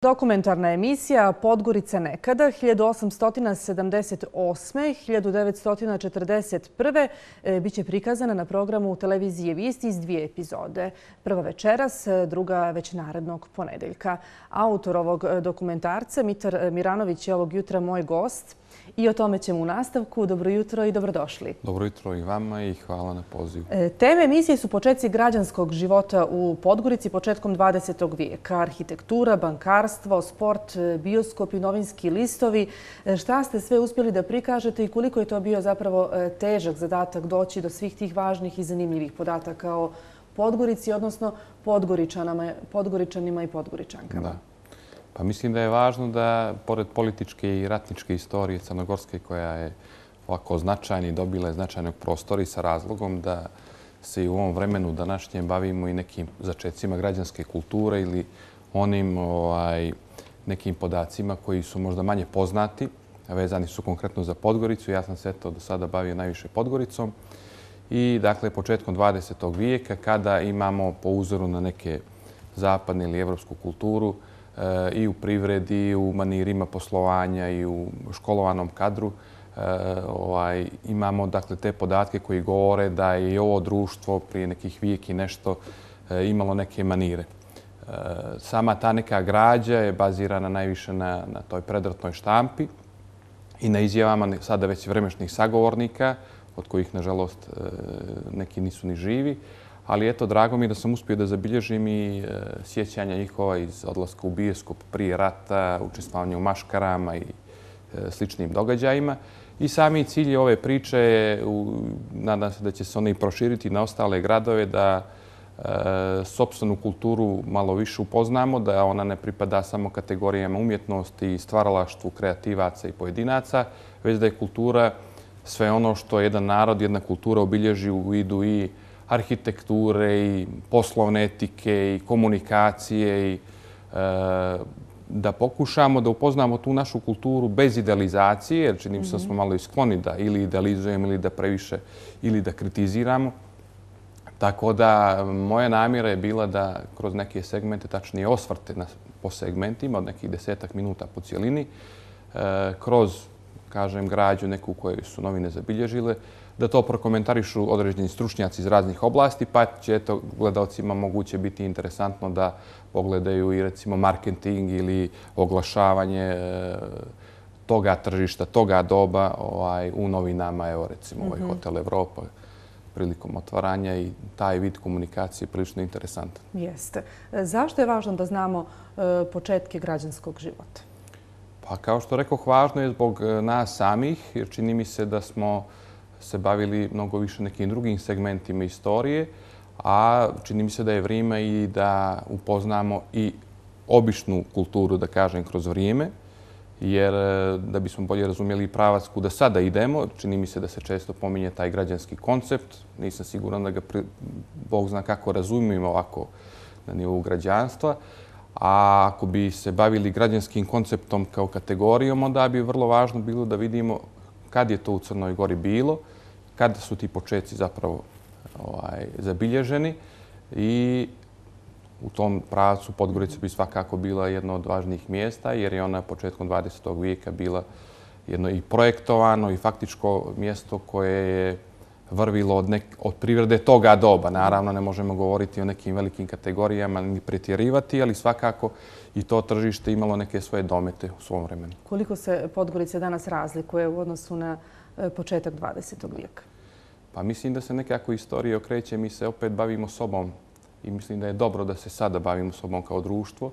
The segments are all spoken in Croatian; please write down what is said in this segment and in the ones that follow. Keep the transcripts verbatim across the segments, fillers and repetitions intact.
Dokumentarna emisija Podgorica nekada hiljadu osamsto sedamdeset osme do hiljadu devetsto četrdeset prve. biće prikazana na programu televizije Vijesti iz dvije epizode. Prva večeras, druga već narednog ponedeljka. Autor ovog dokumentarca, Mitar Miranović, je ovog jutra moj gost i o tome ćemo u nastavku. Dobro jutro i dobrodošli. Dobro jutro i vama i hvala na pozivu. Teme emisije su početci građanskog života u Podgorici početkom dvadesetog vijeka. Arhitektura, bankarstvo, sport, bioskop i novinski listovi. Šta ste sve uspjeli da prikažete i koliko je to bio zapravo težak zadatak doći do svih tih važnih i zanimljivih podataka o Podgorici, odnosno Podgoričanima i Podgoričankama? Da. Pa mislim da je važno da, pored političke i ratničke istorije Crnogorske, koja je ovako značajna i dobila je značajnog prostora i sa razlogom da se i u ovom vremenu današnjem bavimo i nekim začecima građanske kulture ili onim ovaj, nekim podacima koji su možda manje poznati, a vezani su konkretno za Podgoricu. Ja sam se to do sada bavio najviše Podgoricom. I dakle, početkom dvadesetog vijeka, kada imamo po uzoru na neke zapadne ili evropsku kulturu, i u privredi, i u manirima poslovanja, i u školovanom kadru, ovaj, imamo dakle, te podatke koji govore da je i ovo društvo prije nekih vijek i nešto imalo neke manire. Sama ta neka građa je bazirana najviše na, na toj predratnoj štampi i na izjavama sada već vremešnih sagovornika, od kojih, nažalost, neki nisu ni živi. Ali eto, drago mi je da sam uspio da zabilježim i sjećanja njihova iz odlaska u bioskop prije rata, učestvovanja u maškarama i sličnim događajima. I sami cilj ove priče je, nadam se da će se one i proširiti na ostale gradove, da sopstvenu kulturu malo više upoznamo, da ona ne pripada samo kategorijama umjetnosti i stvaralaštvu kreativaca i pojedinaca, već da je kultura sve ono što jedan narod, jedna kultura obilježi u vidu i arhitekture i poslovne etike i komunikacije i e, da pokušamo da upoznamo tu našu kulturu bez idealizacije, jer čini mi se da smo malo i skloni da ili idealizujemo ili da previše ili da kritiziramo. Tako da moja namjera je bila da kroz neke segmente, tačnije osvrte na, po segmentima od nekih desetak minuta po cijelini, e, kroz, kažem, građu neku koju su novine zabilježile, da to prokomentarišu određeni stručnjaci iz raznih oblasti, pa će eto, gledalcima moguće biti interesantno da pogledaju i recimo marketing ili oglašavanje e, toga tržišta, toga doba ovaj, u novinama, evo recimo ovaj Hotel Evropa prilikom otvaranja, i taj vid komunikacije je prilično interesantan. Jeste. Zašto je važno da znamo e, početke građanskog života? Pa kao što rekoh, važno je zbog nas samih, jer čini mi se da smo se bavili mnogo više nekim drugim segmentima istorije, a čini mi se da je vrijeme i da upoznamo i običnu kulturu, da kažem, kroz vrijeme, jer da bismo bolje razumjeli pravac kuda sada idemo, čini mi se da se često pominje taj građanski koncept. Nisam siguran da ga Bog zna kako razumijemo ovako na nivou građanstva. A ako bi se bavili građanskim konceptom kao kategorijom, onda bi vrlo važno bilo da vidimo kad je to u Crnoj Gori bilo, kada su ti početci zapravo ovaj, zabilježeni, i u tom pravcu Podgorica bi svakako bila jedno od važnijih mjesta, jer je ona početkom dvadesetog vijeka bila jedno i projektovano i faktičko mjesto koje je vrvilo od, nek, od privrede toga doba. Naravno, ne možemo govoriti o nekim velikim kategorijama ni pretjerivati, ali svakako i to tržište imalo neke svoje domete u svom vremenu. Koliko se Podgorica danas razlikuje u odnosu na početak dvadesetog vijeka? Pa mislim da se nekako istorija okreće. Mi se opet bavimo sobom i mislim da je dobro da se sada bavimo sobom kao društvo.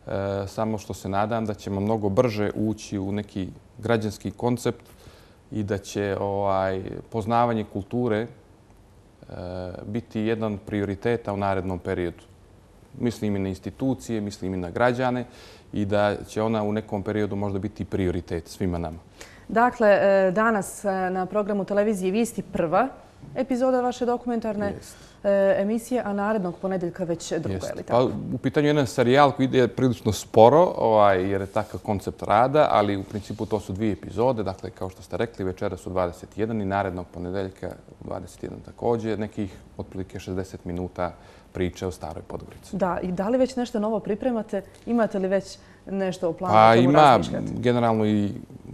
E, samo što se nadam da ćemo mnogo brže ući u neki građanski koncept i da će ovaj, poznavanje kulture e, biti jedan od prioriteta u narednom periodu. Mislim i na institucije, mislim i na građane, i da će ona u nekom periodu možda biti prioritet svima nama. Dakle, danas na programu televizije Vijesti prva epizoda vaše dokumentarne. Jest. emisije, a narednog ponedeljka već druga, je li Pa, tako? u pitanju je jedan serijal koji ide prilično sporo, ovaj, jer je takav koncept rada, ali u principu to su dvije epizode. Dakle, kao što ste rekli, večera su dvadeset jedan i narednog ponedeljka dvadeset jedan također. Nekih otprilike šezdeset minuta priče o Staroj Podgorici. Da, i da li već nešto novo pripremate? Imate li već nešto u planu? Pa o čemu ima razmišljate? generalno i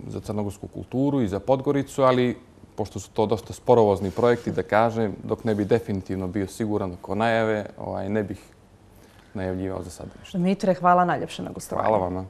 za crnogorsku kulturu i za Podgoricu, ali pošto su to dosta sporovozni projekti, da kažem, dok ne bi definitivno bio siguran oko najave, ovaj, ne bih najavljivao za sada ništa. Mitre, hvala najljepše na gostovanju. Hvala vama.